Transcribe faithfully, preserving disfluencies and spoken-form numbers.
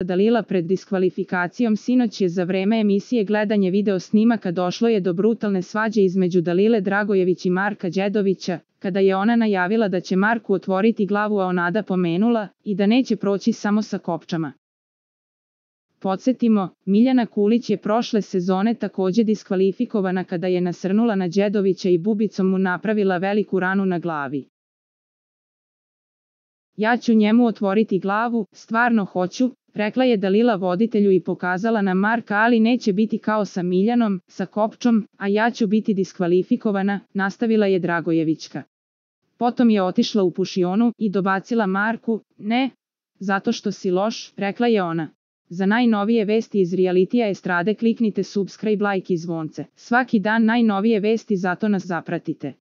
Dalila pred diskvalifikacijom. Sinoć je za vreme emisije Gledanje video snimaka došlo je do brutalne svađe između Dalile Dragojević i Marka Đedovića, kada je ona najavila da će Marku otvoriti glavu, a Onada pomenula i da neće proći samo sa kopčama. Podsjetimo, Miljana Kulić je prošle sezone također diskvalifikovana kada je nasrnula na Đedovića i bubicom mu napravila veliku ranu na glavi. Ja ću njemu otvoriti glavu, stvarno hoću, rekla je Dalila voditelju i pokazala na Marka, ali neće biti kao sa Miljanom, sa kopčom, a ja ću biti diskvalifikovana, nastavila je Dragojevićka. Potom je otišla u pušionu i dobacila Marku, ne, zato što si loš, rekla je ona. Za najnovije vesti iz realitija estrade kliknite subscribe, like i zvonce. Svaki dan najnovije vesti, zato nas zapratite.